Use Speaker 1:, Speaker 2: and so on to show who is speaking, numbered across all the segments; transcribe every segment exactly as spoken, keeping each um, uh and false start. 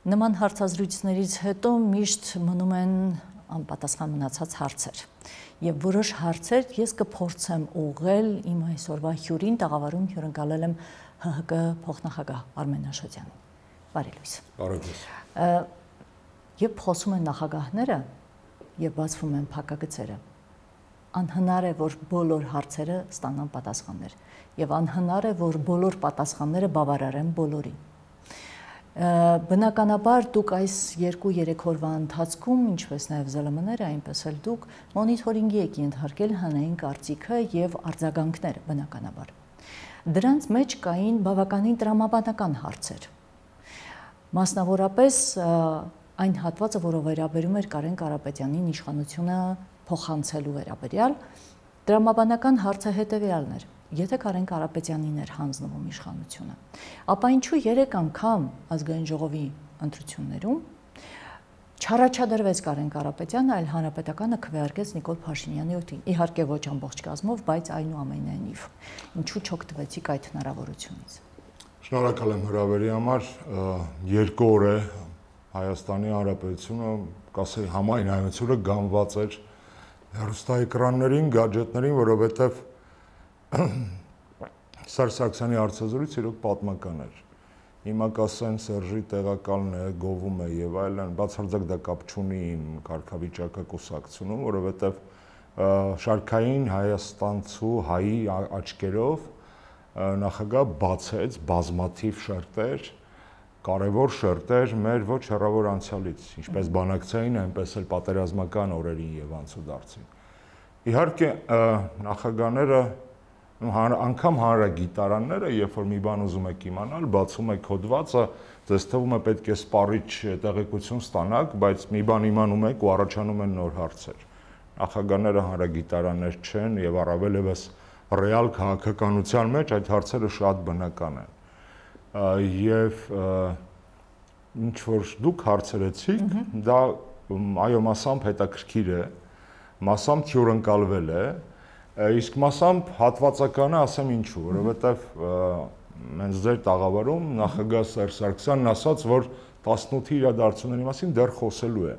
Speaker 1: Նման հարցազրույցներից հետո միշտ մնում են անպատասխան մնացած հարցեր։ Եվ որոշ հարցեր ես կփորձեմ ուղղել իմ այսօրվա հյուրին, տաղավարում հյուրընկալել եմ Հ Հ Կ փոխնախագահ Արմեն Աշոտյանին։ Բարի լույս։
Speaker 2: Բարի լույս։
Speaker 1: Երբ խոսում են նախագահները եւ բացվում են փակագծերը, անհնար է, որ բոլոր հարցերը ստանան պատասխաններ, եւ անհնար է, որ բոլոր պատասխանները բավարարեն բոլորին։ Բնականաբար դուք այս երկու-երեք օրվա ընթացքում, ինչպես նաև Զ Л Մ-ները, այնպես էլ դուք մոնիթորինգի եք ենթարկել հանրային կարծիքը եւ արձագանքները, բնականաբար։ Դրանց մեջ կային բավականին տրամաբանական հարցեր։ Մասնավորապես այն հատվածը, որը վերաբերում էր Կարեն Կարապետյանին իշխանությունը փոխանցելու վերաբերյալ, տրամաբանական հարցը հետեւյալն էր. Եթե Կարեն Կարապետյանին էր հանձնվում իշխանությունը, ապա ինչու երեք անգամ ազգային ժողովի ընտրություններում չառաջադրվեց Կարեն Կարապետյանը, այլ հանրապետականը քվեարկեց Նիկոլ Փաշինյանի օգտին, իհարկե ոչ ամբողջ կազմով, բայց այնուամենայնիվ, ինչու չօգտվեցիք այդ հնարավորությունից։
Speaker 2: Շնորհակալ եմ հրավերի համար, երկու օր է Հայաստանի Հանրապետությունը, կասեի համայնայնությունը գանված էր հեռուստաէկրաններին, գադջետներին, որովհետև Սերժ Սարգսյանի հարցազրույցը իրոք պատմական էր։ Հիմա կասեն Սերժի տեղակալն է, գովում է եւ այլն, բացարձակ դա կապ չունի իմ կարգավիճակը կուսակցությունում, որովհետեւ շարքային հայաստանցու հայի աչքերով նախագահ բացեց բազմաթիվ շերտեր, կարևոր շերտեր մեր ոչ հեռավոր անցյալից, ինչպես բանակցային, այնպես էլ պատերազմական օրերին եւ անցուդարձին։ Իհարկե նախագահները անգամ հանրագիտարանները, երբ որ մի բան ուզում եք իմանալ, բացում եք հոդվածը, ձեզ թվում է պետք է սպառիչ տեղեկություն ստանաք, բայց մի բան իմանում եք ու առաջանում են նոր հարցեր։ Նախագահները հանրագիտարաններ չեն եւ առավել եւս ռեալ քաղաքականության մեջ այդ հարցերը շատ բնական են։ Եվ ինչ որ դուք հարցերեցիք, դա այո մասամբ հետաքրքիր է, մասամբ թյուրընկալվել է, իսկ մասամբ հատվածականը ասեմ ինչու, որովհետև հենց ձեր տաղավարում նախագահ Սերժ Սարգսյանն ասաց, որ տասնութի իրադարձությունների մասին դեռ խոսելու է։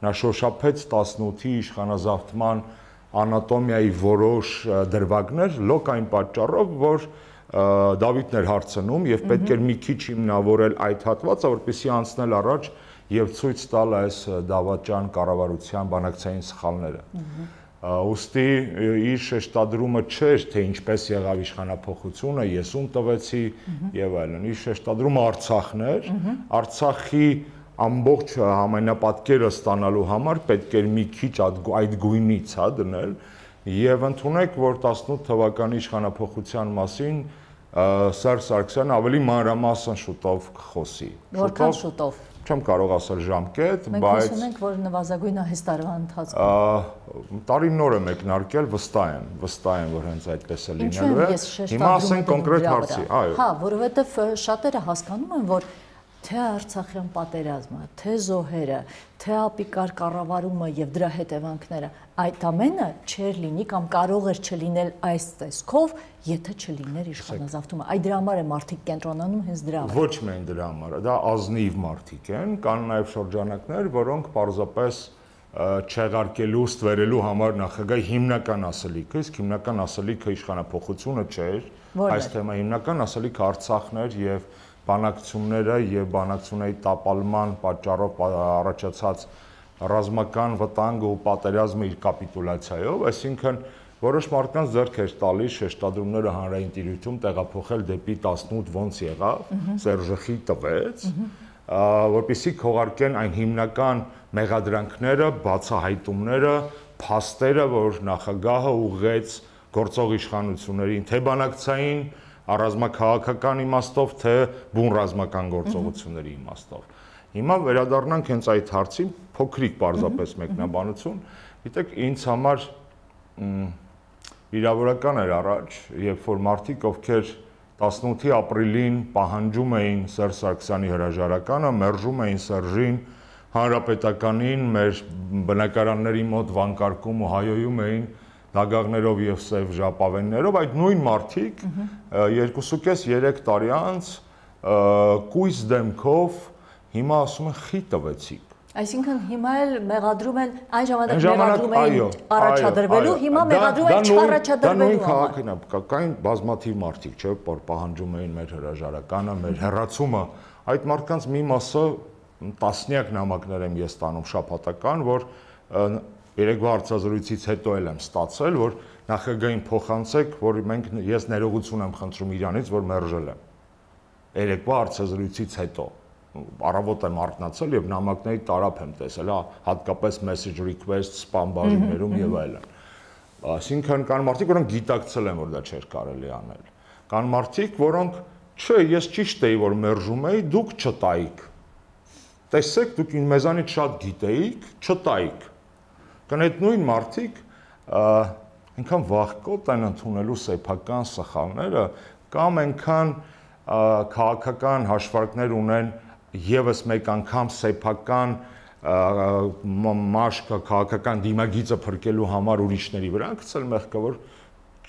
Speaker 2: Նա շոշափեց տասնութի իշխանազավթման անատոմիայի որոշ դրվագներ լոկ այն պատճառով, որ Դավիթն էր հարցնում եւ պետք էր մի քիչ հիմնավորել այդ հատվածը, որպեսզի անցնել առաջ եւ ցույց տալ այս դավաճան կառավարության բանակցային սխալները։ Ոստի իր շեշտադրումը չէր, թե ինչպես եղավ իշխանափոխությունը, ես ում տվեցի եւ այլն։ Իր շեշտադրումը Արցախն էր, Արցախի ամբողջ համայնապատկերը ստանալու համար պետք էր մի քիչ այդ գույնից հա դնել եւ ընդունեք, որ տասնութ թվականի իշխանափոխության մասին Սերժ Սարգսյանը ավելի մանրամասն շուտով կխոսի։
Speaker 1: Որքան շուտով։
Speaker 2: Չեմ կարող ասել ժամկետ, բայց
Speaker 1: մենք հույս ունենք, որ նվազագույնը այս տարվա ընթացքում
Speaker 2: տարին նոր է մեկնարկել, վստահ եմ, վստահ եմ, որ հենց այդպես է լինելու է։ Հիմա ասենք կոնկրետ հարցի, այո։
Speaker 1: Հա, որովհետև շատերը հասկանում են, որ թե Արցախյան պատերազմը, թե զոհերը, թե ապիկար կառավարումը եւ դրա հետևանքները, այդ ամենը չէր լինի կամ կարող էր չլինել այս տեսքով, եթե չլիներ իշխանազավթումը։ Այդ դրա համար է մարդիկ կենտրոնանում հենց դրա վրա։
Speaker 2: Ոչ միայն դրա համար, դա ազնիվ մարդիկ են, կան նաեւ շրջանակներ, որոնք պարզապես չեղարկելու, ստվերելու համար նախագահի հիմնական ասելիքը, իսկ հիմնական ասելիքը իշխանափոխությունը չէր, այս թեմա հիմնական ասելիքը Արցախն էր եւ բանակցությունները եւ բանակցությունների տապալման պատճառով առաջացած ռազմական վտանգը ու պատերազմը իր կապիտուլյացիայով, այսինքն որոշ մարդկանց ձեռք էր տալիս շեշտադրումները հանրային տիրույթում տեղափոխել դեպի տասնութ ոնց եղավ, Սերժի տվեց, որպեսզի քողարկեն այն հիմնական մեղադրանքները, բացահայտումները, փաստերը, որ նախագահը ուղղեց գործող իշխանություններին, թե բանակցային առազմաքաղաքական իմաստով, թե բուն ռազմական գործողությունների իմաստով։ Հիմա վերադառնանք հենց այդ հարցին, փոքրիկ պարզապես մեկնաբանություն, գիտեք, ինձ համար վիրավորական էր առաջ, երբ որ մարդիկ, ովքեր տասնութի ապրիլին պահանջում էին Սերժ Սարգսյանի հրաժարականը, մերժում էին Սերժին, հանրապետականին, մեր բնակարանների մոտ վանկարկում ու հայոյում էին դագաղներով եւ սև ժապավեններով, այդ նույն մարդիկ երկուսուկես երեք տարի անց կույս դեմքով հիմա ասում են խի տվեցիք։
Speaker 1: Այսինքն հիմա էլ մեղադրում են այն ժամանակ մեղադրում էին առաջադրվելու, հիմա մեղադրում են չառաջադրվելու։
Speaker 2: Դա նույն քաղաքն է, կային բազմաթիվ մարդիկ, չէ՞, որ պահանջում էին մեր հրաժարականը, մեր հեռացումը, այդ մարդկանց մի մասը տասնյակ նամակներ եմ ես ստանում շաբաթական, որ երեկվա հարցազրույցից հետո էլ եմ ստացել, որ նախագահին փոխանցեք, որ մենք ես ներողություն եմ խնդրում իրանից, որ մերժել եմ։ Երեկվա հարցազրույցից հետո առավոտ եմ արթնացել եւ նամակների տարափ եմ տեսել, հատկապես message request, spam բաժիններում եւ այլն։ Այսինքն կան մարդիկ, որոնք գիտակցել են, որ դա չէր կարելի անել։ Կան մարդիկ, որոնք չէ, ես ճիշտ էի, որ մերժում էի, դուք չտայիք։ Տեսեք, դուք մեզանից շատ գիտեիք, չտայիք։ Կան այդ նույն մարդիկ, այնքան վախկոտ են ընդունելու սեփական սխալները, կամ այնքան քաղաքական հաշվարկներ ունեն եւս մեկ անգամ սեփական մաշկը քաղաքական դիմագիծը փրկելու համար ուրիշների վրա գցել մեղքը, որ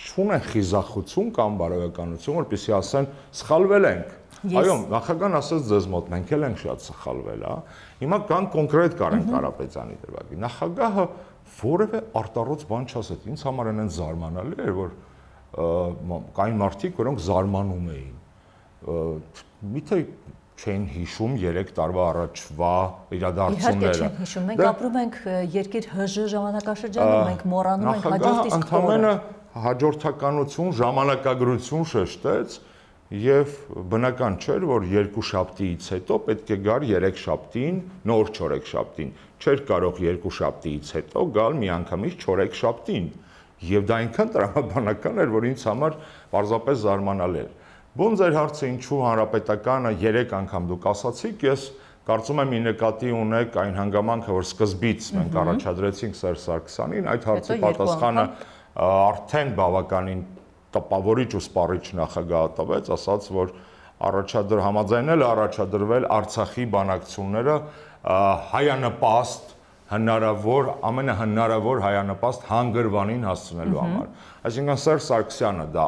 Speaker 2: չունեն խիզախություն կամ բարոյականություն, որպեսզի ասեն սխալվել ենք։ Այո, նախագահան ասաց ձեզ մոտ մենք էլ ենք շատ սխալվել, հա։ Հիմա կան կոնկրետ Կարեն Կարապետյանի դրվագի։ Նախագահը որևէ արտառոց բան չասեց։ Ինձ համար այն զարմանալի էր, որ կային մարդիկ, որոնք զարմանում էին։ Միթե չեն հիշում երեք տարվա առաջվա իրադարձությունները։
Speaker 1: Իհարկե չեն հիշում։ Մենք ապրում ենք երկիր ՀԺ ժամանակաշրջանում, մենք մոռանում ենք հաջորդ իսկ օրը։
Speaker 2: Ընդամենը հաջորդականություն, ժամանակագրություն շեշտեց եւ բնական չէր, որ երկու շաբթիից հետո պետք է գար երեք շաբթին, նոր չորեքշաբթին։ Չէր կարող երկու շաբթիից հետո գալ միանգամից չորեքշաբթին։ Եվ դա այնքան տրամաբանական էր, որ ինձ համար պարզապես զարմանալի էր։ Ոնց էր հարցը ինչու հանրապետականը երեք անգամ դուք ասացիք, ես կարծում եմ մի նկատի ունեք այն հանգամանքը, որ սկզբից մենք առաջադրեցինք Սերժ Սարգսյանին, այդ հարցի պատասխանը արդեն բավականին տպավորիչ ու սպառիչ նախագահը տվեց, ասաց, որ առաջադր համաձայնել առաջադրվել Արցախի բանակցությունները հայանպաստ հնարավոր ամենահնարավոր հայանպաստ հանգրվանին հասցնելու համար։ Այսինքն Սերժ Սարգսյանը դա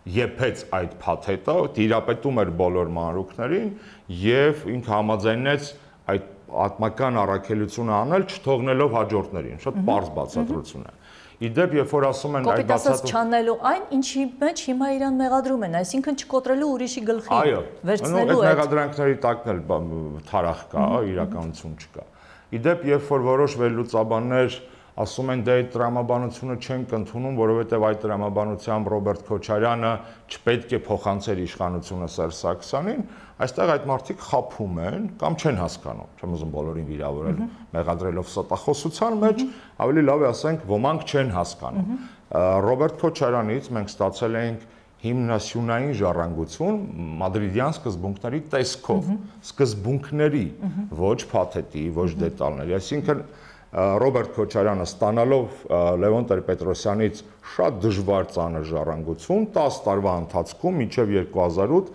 Speaker 2: եփեց այդ փաթեթը, տիրապետում էր բոլոր մանրուքներին եւ ինքը համաձայնեց այդ պատմական առաքելությունը անել, չթողնելով հաջորդներին։ Շատ պարզ բացատրություն է։ Իդեպ, երբ որ ասում են
Speaker 1: այդ բացատրությունը չանելու այն, ինչի մեջ հիմա իրան մեղադրում են, այսինքն չկոտրելու ուրիշի գլխի, վերցնելու
Speaker 2: այդ մեղադրանքների տակն էլ թարախ կա, իրականություն չկա։ Իդեպ, երբ որ որոշ վերլուծաբաններ ասում են դե այդ տրամաբանությունը չենք ընդունում, որովհետև այդ տրամաբանությամբ Ռոբերտ Քոչարյանը չպետք է փոխանցեր իշխանությունը Սերժ Սարգսյանին, այստեղ այդ մարդիկ խաբում են կամ չեն հասկանում, չեմ ուզում բոլորին վիրավորել, մեղադրելով ստախոսության մեջ, ավելի լավ է ասենք, ոմանք չեն հասկանում։ Ռոբերտ Քոչարյանից մենք ստացել ենք հիմնասյունային ժառանգություն մադրիդյան սկզբունքների տեսքով, սկզբունքների, ոչ փաթեթի, ոչ դետալների, այսինքն Ռոբերտ Քոչարյանը ստանալով Լևոն Տեր-Պետրոսյանից շատ դժվար ծանր ժառանգություն տասը տարվա ընթացքում մինչև երկու հազար ութ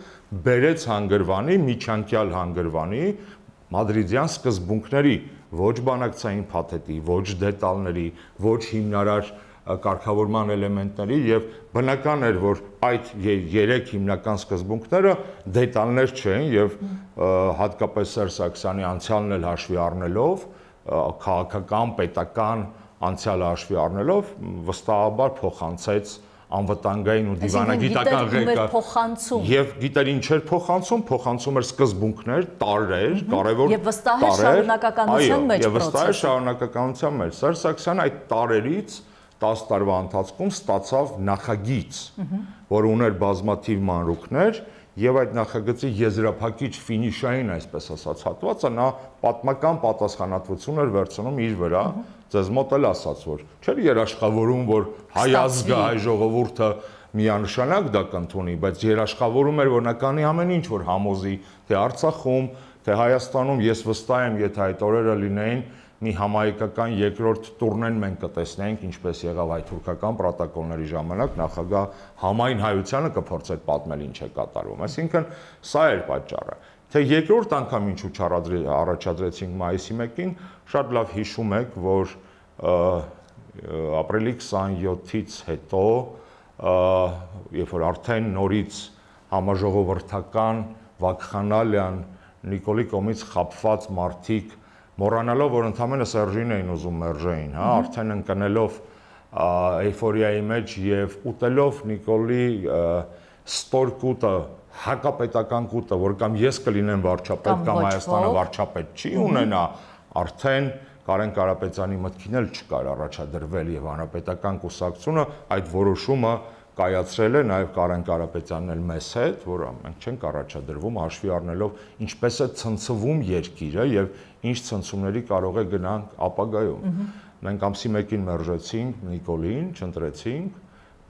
Speaker 2: բերեց հանգրվանի, միջանկյալ հանգրվանի մադրիդյան սկզբունքների ոչ բանակցային փաթեթի, ոչ դետալների, ոչ հիմնարար կարգավորման էլեմենտների եւ բնական էր, որ այդ երեք հիմնական սկզբունքները դետալներ չեն եւ հատկապես Սերժ Սարգսյանի անցյալն էլ հաշվի առնելով քաղաքական, պետական անցյալը հաշվի առնելով վստահաբար փոխանցեց անվտանգային ու դիվանագիտական ղեկը եւ գիտեր ինչ էր փոխանցում, փոխանցում էր սկզբունքներ, տարրեր, կարևոր
Speaker 1: եւ վստահ է շարունակականության մեջ
Speaker 2: եւ վստահ է շարունակականության մեջ։ Սերժ Սարգսյանը այդ տարերից տասը տարվա ընթացքում ստացավ նախագիծ, որ ուներ բազմաթիվ մանրուքներ եւ այդ նախագծի եզրափակիչ ֆինիշային, այսպես ասած, հատվածը նա պատմական պատասխանատվություն էր վերցնում իր վրա, ձեզ մոտ էլ ասաց, որ չէր երաշխավորում, որ հայ ազգը, հայ ժողովուրդը միանշանակ դա կընդունի, բայց երաշխավորում էր, որ նա կանի ամեն ինչ, որ համոզի, թե Արցախում, թե Հայաստանում, ես վստահ եմ, եթե այդ օրերը լինեին, մի համահայկական երկրորդ տուրնեն մենք կտեսնենք, ինչպես եղավ այդ թուրքական պրոտոկոլների ժամանակ, նախագահ համայն հայությանը կփորձեր պատմել ինչ է կատարվում։ Այսինքն սա էր պատճառը։ Թե երկրորդ անգամ ինչու առաջադրեցինք մայիսի մեկին, շատ լավ հիշում եք, որ ապրիլի քսանյոթից հետո, երբ որ արդեն նորից համաժողովրդական վակխանալիան Նիկոլի կողմից խաբված մարդիկ մոռանալով, որ ընդամենը Սերժին էին ուզում մերժեին, հա, արդեն ընկնելով էյֆորիայի մեջ եւ ուտելով Նիկոլի ստոր կուտը, հակապետական կուտը, որ կամ ես կլինեմ վարչապետ, կամ Հայաստանը վարչապետ չի ունենա, արդեն Կարեն Կարապետյանի մտքին էլ չկար առաջադրվել եւ հանրապետական կուսակցությունը այդ որոշումը կայացրել է նաեւ Կարեն Կարապետյանն էլ մեզ հետ, որ մենք չենք առաջադրվում հաշվի առնելով ինչպես է ցնցվում երկիրը եւ ինչ ցնցումների կարող է գնանք ապագայում։ Մենք ամսի մեկին մերժեցինք Նիկոլին, չընտրեցինք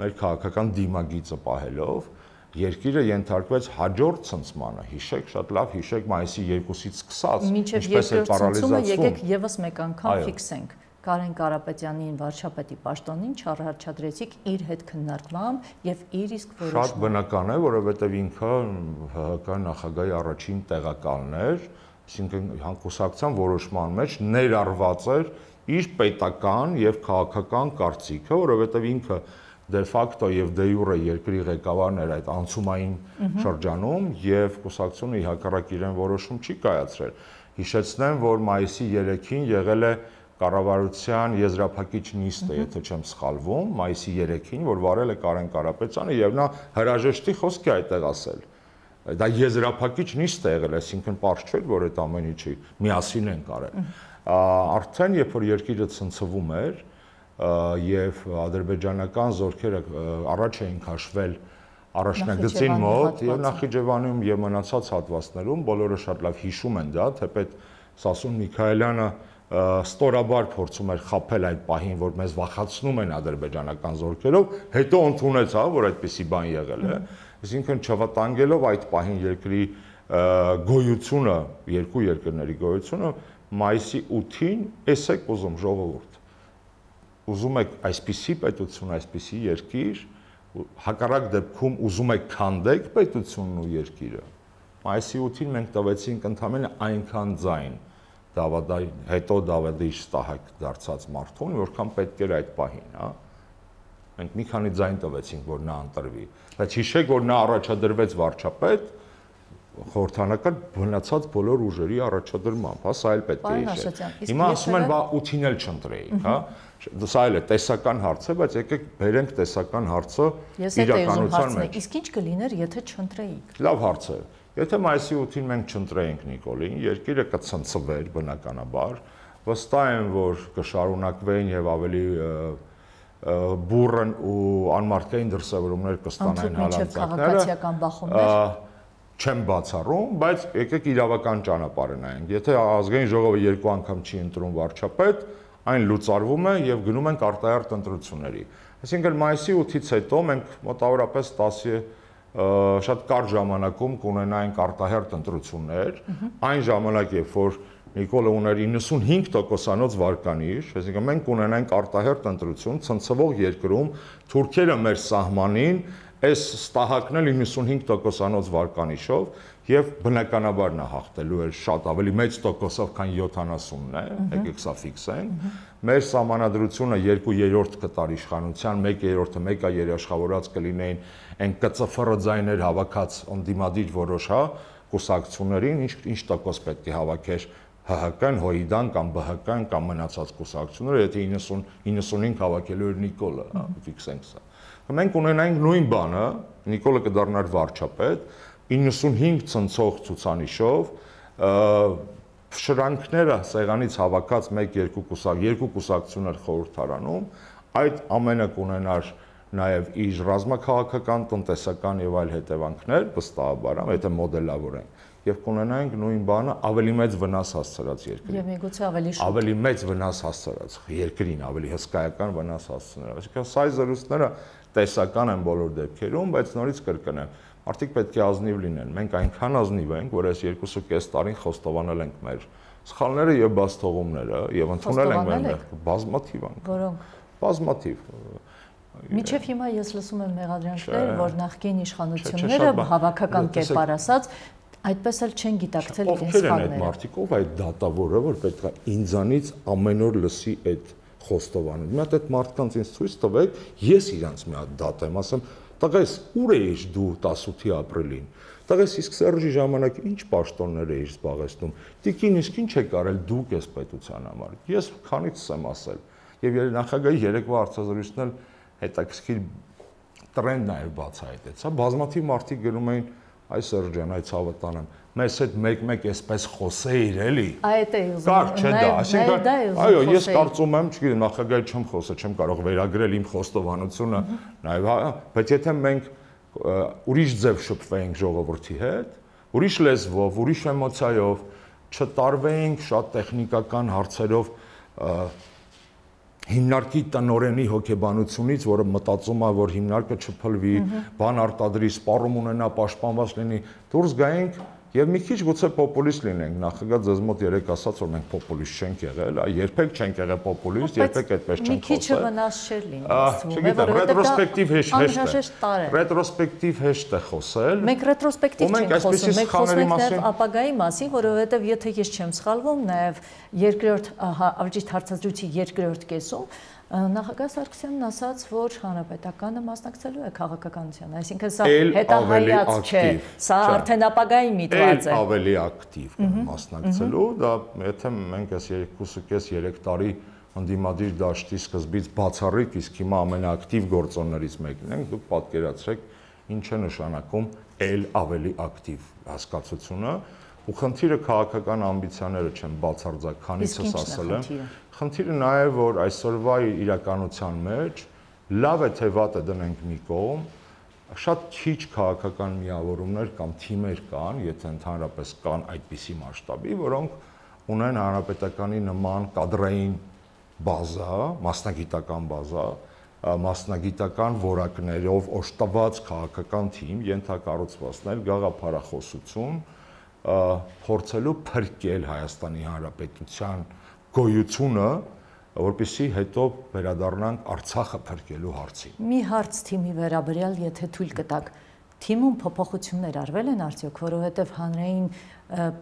Speaker 2: մեր քաղաքական դիմագիծը պահելով, երկիրը ենթարկվեց հաջորդ ցնցմանը, հիշեք, շատ լավ հիշեք մայիսի երկուսից սկսած,
Speaker 1: ինչպես է պարալիզացվում։ Եկեք եւս մեկ անգամ ֆիքսենք։ Կարեն Կարապետյանին վարչապետի պաշտոնին չառաջադրեցիք իր հետ քննարկմամբ եւ իր իսկ որոշմամբ։
Speaker 2: Շատ բնական է, որովհետեւ ինքը ՀՀԿ նախագահի առաջին տեղակալն էր, այսինքն հանկուսակցության որոշման մեջ ներառված էր իր պետական եւ քաղաքական կարծիքը, որովհետեւ ինքը դե ֆակտո եւ դե յուրե երկրի ղեկավարն էր այդ անցումային շրջանում եւ կուսակցությունը ի հակառակ իրեն որոշում չի կայացրել։ Հիշեցնեմ, որ մայիսի երեքին եղել է կառավարության եզրափակիչ նիստը, եթե չեմ սխալվում, մայիսի երեքին, որ վարել է Կարեն Կարապետյանը եւ նա հրաժեշտի խոսք է այդտեղ ասել։ Դա եզրափակիչ նիստ է եղել, այսինքն պարզ չէր, որ այդ ամեն ինչի միասին են կարել։ Արդեն երբ որ երկիրը ցնցվում էր եւ ադրբեջանական զորքերը առաջ էին քաշվել առաջնագծին մոտ եւ Նախիջևանում եւ մնացած հատվածներում, բոլորը շատ լավ հիշում են դա, թեպետ Սասուն Միքայելյանը ստորաբար փորձում էր խաբել այդ պահին, որ մեզ վախացնում են ադրբեջանական զորքերով, հետո ընդունեց, հա, որ այդպիսի բան եղել է, այսինքն չվտանգելով այդ պահին երկրի գոյությունը, երկու երկրների գոյությունը, մայիսի ութին էս եք ուզում ժողովուրդ, ուզում եք այսպիսի պետություն, այսպիսի երկիր, հակառակ դեպքում ուզում եք քանդեք պետությունն ու երկիրը, մայիսի ութին մենք տվեցինք ընդամենը այնքան ձայն Դավադի, հետո Դավադի շտահակ դարձած մարդուն, որքան պետք էր այդ պահին, հա։ Մենք մի քանի ձայն տվեցինք, որ նա ընտրվի։ Բայց հիշեք, որ նա առաջադրվեց վարչապետ խորհրդանական բնացած բոլոր ուժերի առաջադրմամբ, հա, սա էլ պետք է հիշել։ Հիմա ասում են, բա ութին էլ չընտրեիք, հա։ Սա էլ է տեսական հարց է, բայց եկեք բերենք տեսական հարցը իրականության մեջ։
Speaker 1: Իսկ ինչ կլիներ, եթե չընտրեիք։
Speaker 2: Լավ հարց է։ Եթե մայիսի ութին մենք չընտրեինք Նիկոլին, երկիրը կցնցվեր բնականաբար, վստահ եմ, որ կշարունակվեն եւ ավելի բուրըն ու անմարդկային դրսևորումներ կստանային
Speaker 1: հալածակները,
Speaker 2: չեմ բացառում, բայց եկեք իրավական ճանապարհը նայենք։ Եթե ազգային ժողովը երկու անգամ չի ընտրում վարչապետ, այն լուծարվում է եւ գնում ենք արտահերթ ընտրությունների։ Այսինքն մայիսի ութից հետո մենք մոտավորապես տասը շատ կարճ ժամանակում կունենայինք արտահերթ ընտրություններ, այն ժամանակ, երբ որ Նիկոլը ուներ իննսունհինգ տոկոսանոց վարկանիշ, այսինքն մենք կունենայինք արտահերթ ընտրություն, ցնցվող երկրում, թուրքերը մեր սահմանին, այս ստահակն էլ իննսունհինգ տոկոսանոց վարկանիշով եւ բնականաբար նա հաղթելու էր շատ ավելի մեծ տոկոսով, քան յոթանասունն է, եկեք սա ֆիքսենք։ Մեր սահմանադրությունը երկու երրորդ կտար իշխանության, մեկ երրորդը մեկ այ երաշխավորած կլինեին այն կծֆռ ձայներ հավաքած ընդդիմադիր որոշ, հա, կուսակցություններին, ինչ ինչ տոկոս պետք է հավաքեր ՀՀԿ-ն, ՀՅԴ-ն կամ ԲՀԿ-ն կամ մնացած կուսակցությունները, եթե իննսուն իննսունհինգ հավաքելու էր Նիկոլը, հա, ֆիքսենք սա։ Մենք ունենայինք նույն բանը, Նիկոլը կդառնար վարչապետ, իննսունհինգ ցնցող ցուցանիշով, շրանքները սեղանից հավաքած մեկ երկու կուսակ, երկու կուսակցություններ խորհրդարանում, այդ ամենը կունենար նաև իր ռազմաքաղաքական, տնտեսական եւ այլ հետևանքներ, վստահաբար, եթե մոդելավորենք, եւ կունենայինք նույն բանը ավելի մեծ վնաս հասցրած երկրին։
Speaker 1: Եվ միգուցե ավելի շուտ։
Speaker 2: Ավելի մեծ վնաս հասցրած երկրին, ավելի հսկայական վնաս հասցնել։ Այսինքն սա զրույցները տեսական են բոլոր դեպքերում, բայց նորից կրկնեմ, մարդիկ պետք է ազնիվ լինեն։ Մենք այնքան ազնիվ ենք, որ այս երկուսու կես տարին խոստովանել ենք մեր սխալները եւ բացթողումները եւ ընդունել ենք մեր բազմաթիվ անգամ։
Speaker 1: Որոնք։
Speaker 2: Բազմաթիվ։
Speaker 1: Մինչև հիմա ես լսում եմ մեղադրանքներ, որ նախկին իշխանությունները հավաքական կերպար ասած այդպես էլ չեն գիտակցել իրենց սխալները։
Speaker 2: Ովքեր են այդ մարդիկ, ով այդ դատավորը, որ պետք է ինձանից ամեն օր լսի այդ խոստովանը։ Մի հատ այդ մարդկանց ինձ ցույց տվեք, ես իրանց մի հատ դատ եմ, ասեմ, տղես ուր էիր դու տասութի ապրիլին, տղես իսկ Սերժի ժամանակ ինչ պաշտոններ էիր զբաղեցնում, տիկին իսկ ինչ եք արել դուք այս պետության համար, ես քանից եմ ասել, եւ նախագահի երեկվա հարցազրույցն էլ հետաքրքիր տրենդ նաեւ բացահայտեց, հա, բազմաթիվ մարդիկ գրում էին այ Սերժ ջան, այ ցավը տանեմ, մեզ հետ մեկ-մեկ էսպես խոսեիր էլի։
Speaker 1: Այդ է ուզում։
Speaker 2: Կար չէ դա, այսինքն այո, ես կարծում եմ, չգիտեմ, նախագահի չեմ խոսել, չեմ կարող վերագրել իմ խոստովանությունը, նաեւ, բայց եթե մենք ուրիշ ձև շփվեինք ժողովրդի հետ, ուրիշ լեզվով, ուրիշ էմոցիայով, չտարվեինք շատ տեխնիկական հարցերով հիմնարկի տնօրենի հոգեբանությունից, որը մտածում է, որ հիմնարկը չփլվի, բան արտադրի, սպառում ունենա, պաշտպանված լինի, դուրս գայինք եւ մի քիչ գուցե պոպուլիստ լինենք, նախագահ ձեզ մոտ երեք ասաց, որ մենք պոպուլիստ չենք եղել, երբեք չենք եղել պոպուլիստ, երբեք այդպես չենք խոսել։
Speaker 1: Մի քիչ վնաս չէր լինի,
Speaker 2: չգիտեմ, ռետրոսպեկտիվ հեշտ է։ Ռետրոսպեկտիվ հեշտ է խոսել։
Speaker 1: Մենք ռետրոսպեկտիվ չենք խոսում, մենք խոսում ենք նաեւ ապագայի մասին, որովհետեւ եթե ես չեմ սխալվում, նաեւ երկրորդ ավճիտ հարցազրույցի երկրորդ կեսում նախագահ Սարգսյանն ասաց, որ հանրապետականը մասնակցելու է քաղաքականությանը, այսինքն սա հետահայաց չէ, սա արդեն ապագայի միտված է։
Speaker 2: Էլ ավելի ակտիվ մասնակցելու, դա եթե մենք այս երկուսուկես-երեք տարի ընդդիմադիր դաշտի սկզբից բացառիկ, իսկ հիմա ամենաակտիվ գործոններից մեկն ենք, դուք պատկերացրեք ինչ է նշանակում էլ ավելի ակտիվ հասկացությունը, ու խնդիրը քաղաքական ամբիցիաները չեն բացարձակ, քանիցս ասել եմ։ Խնդիրը նա է, որ այսօրվա իրականության մեջ լավ է թե վատ է դնենք մի կողմ, շատ քիչ քաղաքական միավորումներ կամ թիմեր կան, եթե ընդհանրապես կան այդպիսի մասշտաբի, որոնք ունեն հանրապետականի նման կադրային բազա, մասնագիտական բազա, մասնագիտական որակներով օժտված քաղաքական թիմ, ենթակառուցվածքներ, գաղափարախոսություն, փորձելու փրկել Հայաստանի Հանրապետության գոյությունը, որպեսզի հետո վերադառնանք Արցախը փրկելու հարցին։
Speaker 1: Մի հարց թիմի վերաբերյալ, եթե թույլ կտաք, թիմում փոփոխություններ արվել են արդյոք, որովհետև հանրային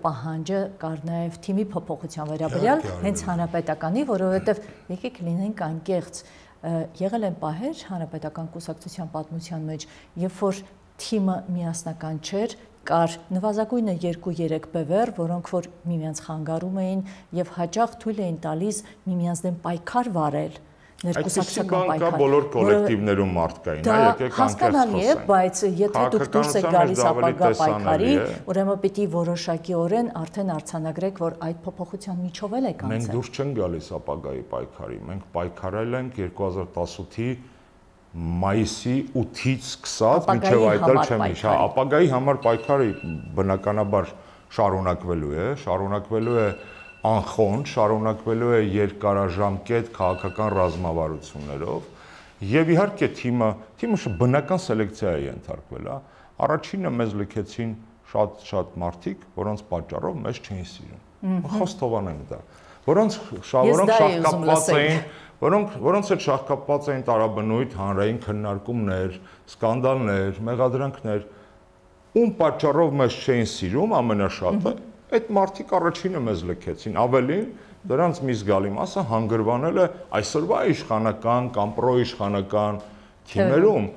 Speaker 1: պահանջը կար նաև թիմի փոփոխության վերաբերյալ, հենց հանրապետականի, որովհետև եկեք լինենք անկեղծ, եղել են պահեր հանրապետական կուսակցության պատմության մեջ, երբ որ թիմը միասնական չէր, կար նվազագույնը երկու-երեք բևեռ, որոնք որ միմյանց խանգարում էին եւ հաճախ թույլ էին տալիս միմյանց դեմ պայքար վարել, ներկուսակցական պայքար։
Speaker 2: Այդպիսի բոլոր կոլեկտիվներում մարդ կային, հա, եկեք
Speaker 1: հասկանալի է, բայց եթե դուք դուրս եք գալիս ապագա պայքարի, ուրեմն պիտի որոշակիորեն արդեն արձանագրեք, որ այդ փոփոխության միջով էլ եք անցել։
Speaker 2: Մենք դուրս չենք գալիս ապագայի պայքարի, մենք պայքարել ենք երկու հազար տասութի մայիսի ութից սկսած մինչև այդ էլ չեմ հիշա, ապագայի համար պայքարը բնականաբար շարունակվելու է, շարունակվելու է անխոնջ, շարունակվելու է երկարաժամկետ քաղաքական ռազմավարություններով եւ իհարկե թիմը, թիմը բնական սելեկցիա է ենթարկվել, հա, առաջինը մեզ լքեցին շատ-շատ մարդիկ, որոնց պատճառով մեզ չէին սիրում։ Խոստովանենք դա, որոնց որոնք շահկապված էին Որոնք որոնց հետ շահկապված էին տարաբնույթ հանրային քննարկումներ, սկանդալներ, մեղադրանքներ, ում պատճառով մեզ չէին սիրում ամենաշատը, այդ մարդիկ առաջինը մեզ լքեցին, ավելին դրանց մի զգալի մասը հանգրվանել է այսօրվա իշխանական կամ պրոիշխանական թիմերում,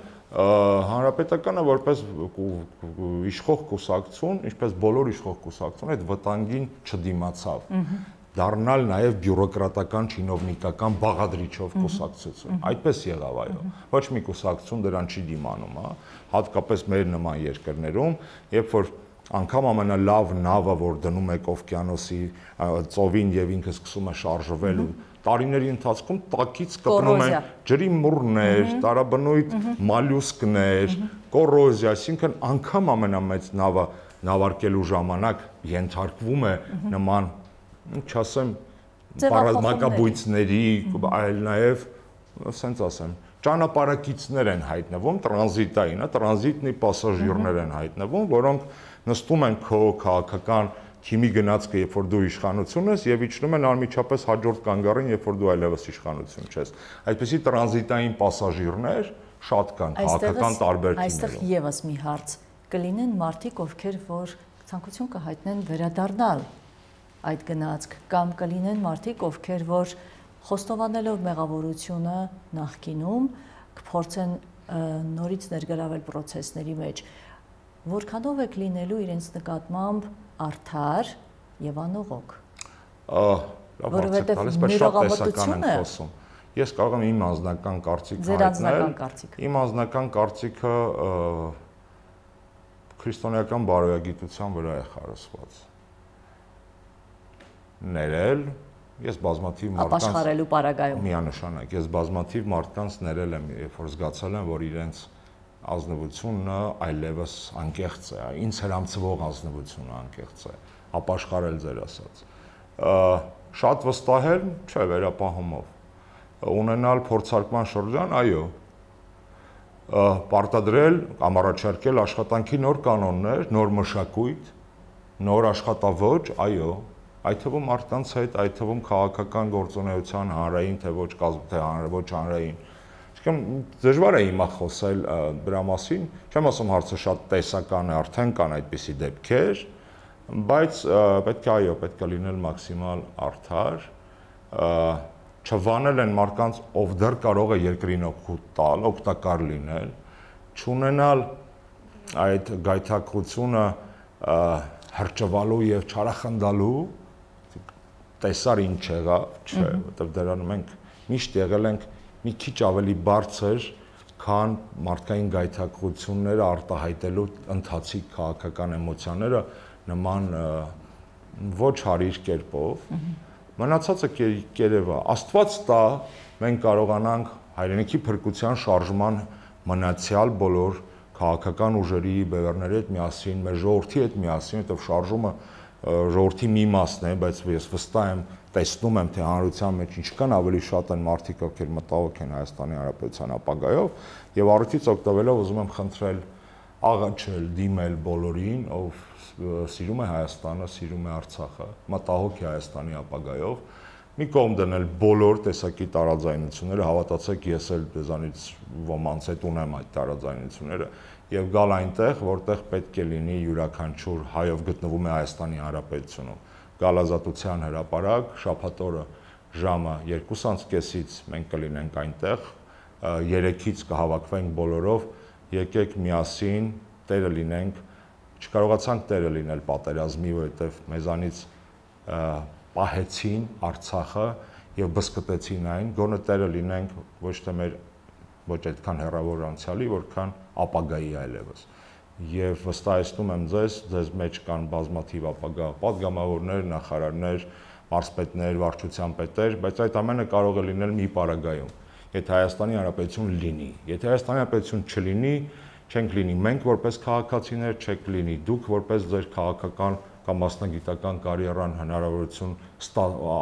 Speaker 2: հանրապետականը որպես իշխող կուսակցություն, ինչպես բոլոր իշխող կուսակցություն, այդ վտանգին չդիմացավ։ Դառնալ նաև բյուրոկրատական չինովնիկական բաղադրիչով կուսակցություն։ Այդպես եղավ, այո։ Ոչ մի կուսակցություն դրան չի դիմանում, հա, հատկապես մեր նման երկրներում, երբ որ անգամ ամենալավ նավը, որ դնում եք օվկիանոսի ծովին եւ ինքը սկսում է շարժվել, տարիների ընթացքում տակից կպնում են ջրի մուրներ, տարաբնույթ մալյուսկներ, կոռոզիա, այսինքն անգամ ամենամեծ նավը նավարկելու ժամանակ ենթարկվում է նման չասեմ պարազմակաբույծների, այլ նաև, ասենց ասեմ, ճանապարհակիցներ են հայտնվում, տրանզիտային, տրանզիտնի պասաժիրներ են հայտնվում, որոնք նստում են քո քաղաքական թիմի գնացքը, երբ որ դու իշխանություն ես, եւ իջնում են անմիջապես հաջորդ կանգառին, երբ որ դու այլևս իշխանություն չես։ Այդպիսի տրանզիտային պասաժիրներ շատ կան քաղաքական տարբեր թիմերում։
Speaker 1: Այստեղ եւս մի հարց կլինեն մարդիկ, ովքեր որ ցանկություն կհայտնեն վերադառնալ այդ գնացք, կամ կլինեն մարդիկ, ովքեր որ խոստովանելով մեղավորությունը նախկինում կփորձեն նորից ներգրավել process-ների մեջ, որքանով եք լինելու իրենց նկատմամբ արդար եւ անողոք։
Speaker 2: Որովհետեւ ներողամտությունը ես կարող եմ իմ անձնական կարծիքը հայտնել։ Իմ անձնական կարծիքը քրիստոնեական բարոյագիտության վրա է խարսված։ Ներել, ես բազմաթիվ մարդկանց
Speaker 1: ապաշխարելու պարագայում
Speaker 2: միանշանակ, ես բազմաթիվ մարդկանց ներել եմ, երբ որ զգացել եմ, որ իրենց ազնվությունը այլևս անկեղծ է, ինձ հրամցվող ազնվությունը անկեղծ է, ապաշխարել ձեր ասած։ Շատ վստահել, չէ, վերապահումով։ Ունենալ փորձարկման շրջան, այո։ Պարտադրել կամ առաջարկել աշխատանքի նոր կանոններ, նոր մշակույթ, նոր աշխատավոճ, այո, այդ թվում մարդկանց հետ, այդ թվում քաղաքական գործունեության հանրային, թե ոչ թե ոչ հանրային։ Այսինքն դժվար է հիմա խոսել դրա մասին, չեմ ասում հարցը շատ տեսական է, արդեն կան այդպիսի դեպքեր, բայց պետք է այո, պետք է լինել մաքսիմալ արդար, չվանել են մարդկանց, ով դեռ կարող է երկրին օգուտ տալ, օգտակար լինել, չունենալ այդ գայթակղությունը հրճվալու եւ չարախնդալու, տեսար ինչ եղավ, չէ, որտեղ դրան մենք միշտ եղել ենք մի քիչ ավելի բարձր, քան մարդկային գայթակղությունները արտահայտելու ընթացիկ քաղաքական էմոցիաները նման ոչ հարիր կերպով, մնացածը կերևա, Աստված տա, մենք կարողանանք հայրենիքի փրկության շարժման մնացյալ բոլոր քաղաքական ուժերի բևեռների հետ միասին, մեր ժողովրդի հետ միասին, որտեղ շարժումը ժողովրդի մի մասն է, բայց ես վստահ եմ, տեսնում եմ, թե հանրության մեջ ինչքան ավելի շատ են մարդիկ, ովքեր մտահոգ են Հայաստանի Հանրապետության ապագայով, եւ առիթից օգտվելով ուզում եմ խնդրել, աղաչել, դիմել բոլորին, ով սիրում է Հայաստանը, սիրում է Արցախը, մտահոգ է Հայաստանի ապագայով, մի կողմ դնել բոլոր տեսակի տարաձայնությունները, հավատացեք, ես էլ դեզանից ոմանց հետ ունեմ այդ տարաձայնությունները, եւ գալ այնտեղ, որտեղ պետք է լինի յուրաքանչյուր հայով գտնվում է Հայաստանի Հանրապետությունում։ Գալ Ազատության հրապարակ, շաբաթ օրը ժամը երկուսից կեսից մենք կլինենք այնտեղ, երեքից կհավաքվենք բոլորով, եկեք միասին տերը լինենք, չկարողացանք տերը լինել պատերազմի, որովհետեւ մեզանից պահեցին Արցախը եւ բսկտեցին այն, գոնե տերը լինենք ոչ թե մեր ոչ այդքան հեռավոր անցյալի, որքան ապագայի այլևս։ Եվ վստահեցնում եմ ձեզ, ձեզ մեջ կան բազմաթիվ ապագա պատգամավորներ, նախարարներ, մարզպետներ, վարչության պետեր, բայց այդ ամենը կարող է լինել մի պարագայում, եթե Հայաստանի Հանրապետություն լինի։ Եթե Հայաստանի Հանրապետություն չլինի, չենք լինի մենք որպես քաղաքացիներ, չեք լինի դուք որպես ձեր քաղաքական կամ մասնագիտական կարիերան հնարավորություն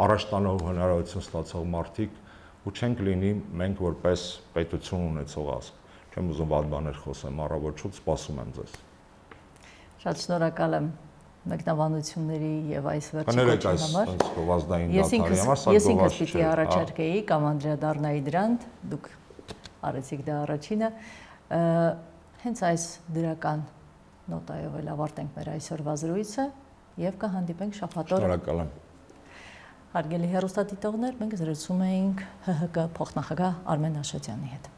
Speaker 2: առաջ տանող հնարավորություն ստացող մարդիկ ու չենք լինի մենք որպես պետություն ունեցող ազգ։ Չեմ ուզում վատ բաներ խոսեմ, առավոտ սպասում եմ ձեզ։
Speaker 1: Շատ շնորհակալ եմ մեկնաբանությունների եւ այս վերջի կոչի համար։ Ես ինքս ես ինքս պիտի առաջարկեի կամ անդրադառնայի դրան, դուք արեցիք դա առաջինը, հենց այս դրական նոտայով էլ ավարտենք մեր այսօրվա զրույցը եւ կհանդիպենք շաբաթ օրը։
Speaker 2: Շնորհակալ եմ։
Speaker 1: Հարգելի հեռուստադիտողներ, մենք զրուցում էինք ՀՀԿ փոխնախագահ Արմեն Աշոտյանի հետ։